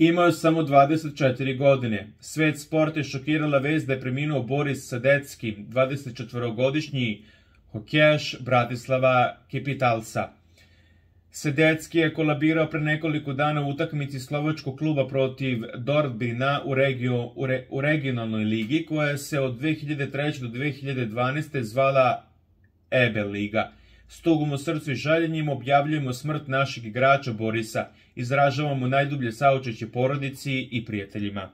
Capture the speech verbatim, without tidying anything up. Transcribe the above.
Imao je samo dvadeset četiri godine. Svet sporta je šokirala vest da je preminuo Boris Sadecki, dvadesetčetvorogodišnji hokejaš Bratislava Capitalsa. Sadecki je kolabirao pre nekoliko dana u utakmici slovačkog kluba protiv Dortmunda u, regio, u, re, u regionalnoj ligi, koja se od dve hiljade treće do dve hiljade dvanaeste zvala E B liga. S tugom u srcu i žaljenjem objavljujemo smrt našeg igrača Borisa. Izražavamo najdublje saučešće porodici i prijateljima.